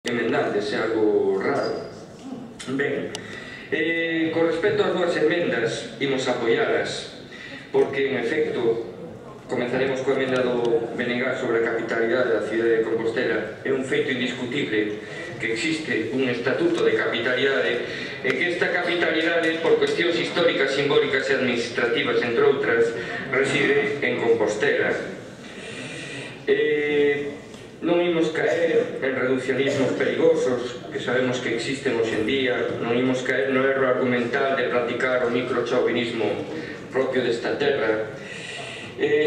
emendantes, é algo raro. Ben, con respecto ás dúas emendas, imos apoialas, porque, en efecto, comenzaremos coa emenda do BNG sobre a capitalidade da cidade de Compostela. É un feito indiscutible que existe un estatuto de capitalidade e que esta capitalidade, por cuestións históricas, simbólicas e administrativas, entre outras, reside en Compostela. Non imos caer en reduccionismos perigosos que sabemos que existen hoxe en día, non imos caer no erro argumental de practicar o microchauvinismo propio desta terra,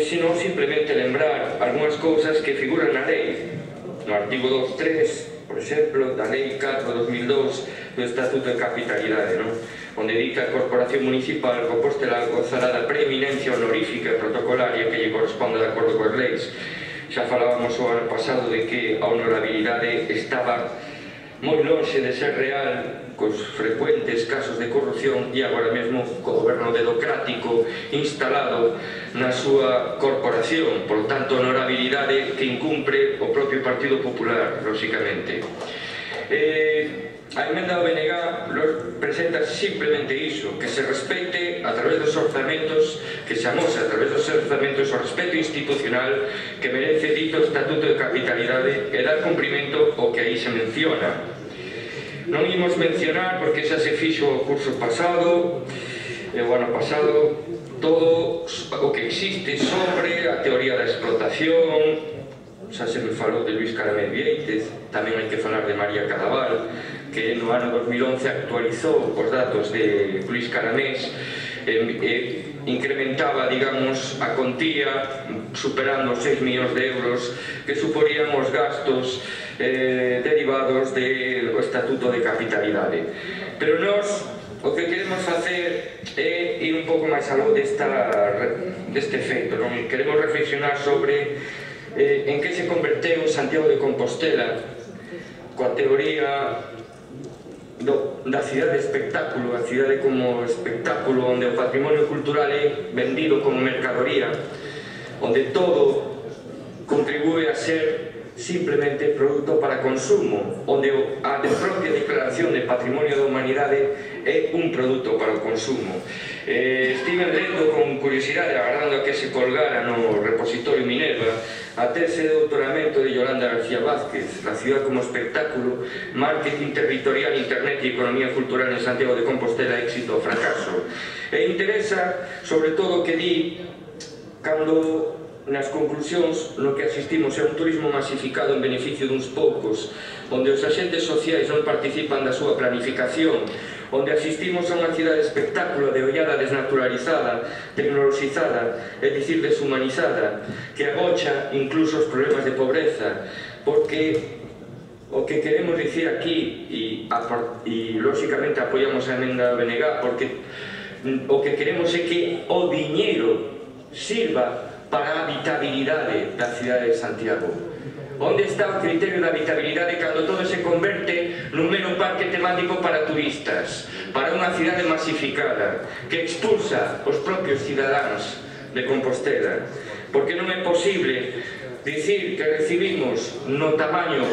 sino simplemente lembrar algunhas cousas que figuran na lei, no artigo 2.3, por exemplo, da lei 4/2002 do Estatuto de Capitalidade, onde di que a Corporación Municipal Compostela gozará da preeminencia honorífica e protocolaria que lle corresponde de acordo coas leis. Xa falábamos o ano pasado de que a honorabilidade estaba moi lonxe de ser real cos frecuentes casos de corrupción e agora mesmo co goberno dedocrático instalado na súa corporación, por tanto honorabilidade que incumpre o propio Partido Popular, lóxicamente. A emenda do BNG presenta simplemente iso, que se respecte a través dos orzamentos, que se amose a través dos orzamentos o respeto institucional que merece dito Estatuto de Capitalidade e dar cumprimento ao que aí se menciona. Non imos mencionar, porque xa se fixo o curso pasado, o ano pasado, todo o que existe sobre a teoría da explotación. Xa se me falou de Luis Caramel Vieites, tamén hai que falar de María Cadaval, que no ano 2011 actualizou os datos de Luis Caramés e incrementaba, digamos, a contía superando os 6 millóns de euros que suporían os gastos derivados do Estatuto de Capitalidade. Pero nós o que queremos facer é ir un pouco máis aló deste feito, queremos reflexionar sobre en que se converteu Santiago de Compostela coa teoría da cidade de espectáculo, a cidade como espectáculo onde o patrimonio cultural é vendido como mercadoría, onde todo contribúe a ser simplemente produto para consumo, onde a propia declaración de patrimonio da humanidade é un produto para o consumo. Estive lendo con curiosidade, agardando a que se colgara no repositorio Minerva, a tese de doutoramento de Yolanda García Vázquez, La ciudad como espectáculo, marketing territorial, internet e economía cultural en Santiago de Compostela, éxito ou fracaso. E interesa, sobre todo, que di cando nas conclusións no que asistimos é un turismo masificado en beneficio duns poucos, onde os axentes sociais non participan da súa planificación, onde asistimos a unha cidade de espectáculo de ollada desnaturalizada, tecnoloxizada, é dicir, deshumanizada, que agocha incluso os problemas de pobreza, porque o que queremos dicir aquí, e lóxicamente apoiamos a emenda do BNG, porque o que queremos é que o diñeiro sirva para a habitabilidade da cidade de Santiago. Onde está o criterio da habitabilidade cando todo se converte nun mero parque temático para turistas, para unha cidade masificada, que expulsa os propios cidadáns de Compostela? Porque non é posible dicir que recibimos no tamaño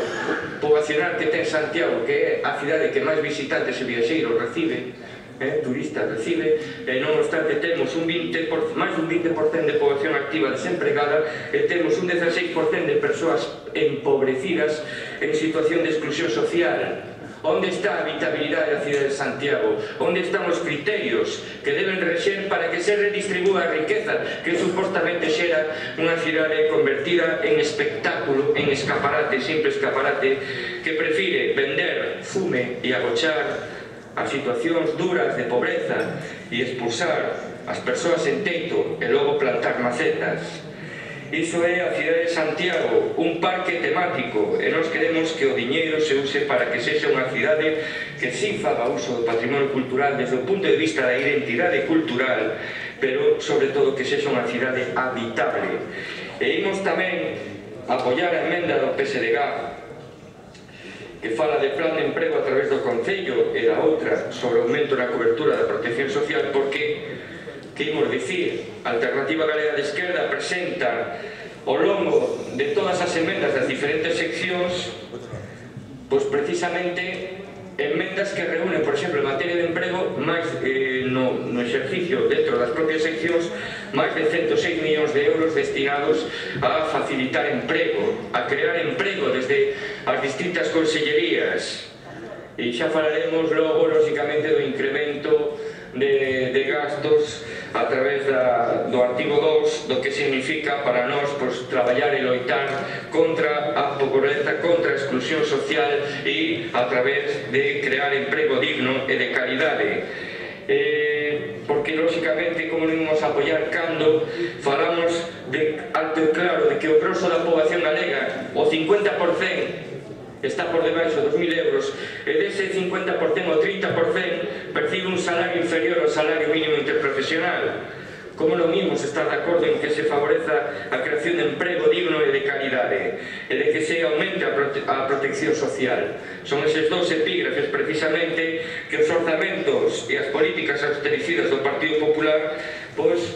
poboacional que ten Santiago, que é a cidade que máis visitantes e viaxeiros recibe, turistas recibe, e non obstante temos máis dun 20% de poboación activa desempregada e temos un 16% de persoas empobrecidas en situación de exclusión social. Onde está a habitabilidade da cidade de Santiago? Onde están os criterios que deben rexer para que se redistribúa a riqueza que supostamente xera unha cidade convertida en espectáculo, en escaparate, simple escaparate, que prefire vender fume e agochar as situacións duras de pobreza e expulsar as persoas en teito e logo plantar macetas? Iso é a cidade de Santiago, un parque temático, e nós queremos que o diñeiro se use para que sexa unha cidade que si faga uso do patrimonio cultural desde o punto de vista da identidade cultural, pero sobre todo que sexa unha cidade habitable. E imos tamén apoiar a emenda do PSDG que fala de plan de emprego a través do Concello e da outra sobre aumento na cobertura da protección social, porque, que imos dicir, a Alternativa Galega de Esquerda presenta ao longo de todas as emendas das diferentes seccións pois precisamente enmendas que reúnen, por exemplo, en materia de emprego, máis no exercicio dentro das propias seccións, máis de 106 millóns de euros destinados a facilitar emprego, a crear emprego desde as distintas consellerías. E xa falaremos logo, lógicamente, do incremento de gastos a través do artigo 2, do que significa para nós traballar e loitar contra a pobreza, contra a exclusión social e a través de crear emprego digno e de calidade. Porque, lógicamente, como non imos apoiar cando falamos de alto e claro de que o grosso da poboación galega, o 50%, está por debaixo dos 1.000 euros, e dese 50% ou 30% percibe un salario inferior ao salario mínimo interprofesional. Como non imos estar de acordo en que se favoreza a creación de emprego digno e de calidade, e de que se aumente a protección social? Son eses dous epígrafes, precisamente, que os orzamentos e as políticas austericidas do Partido Popular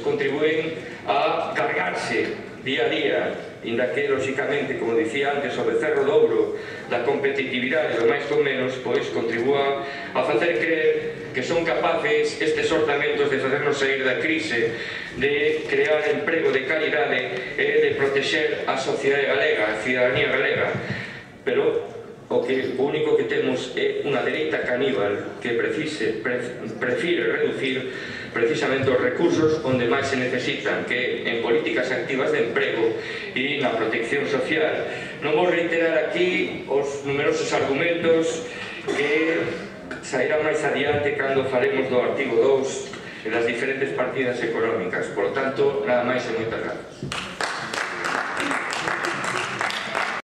contribúen a cargarse día a día, inda que, lógicamente, como dicía antes, o becerro de ouro da competitividade do máis con menos, contribúa a facer creer que son capaces estes orzamentos de facernos sair da crise, de crear emprego de calidade e de protexer a sociedade galega, a cidadanía galega. Pero o único que temos é unha dereita caníbal que prefire reducir precisamente os recursos onde máis se necesitan, que en políticas activas de emprego e na protección social. Non vou reiterar aquí os numerosos argumentos que sairán máis adiante cando faremos do artigo 2 e das diferentes partidas económicas. Por lo tanto, nada máis e moitas grazas.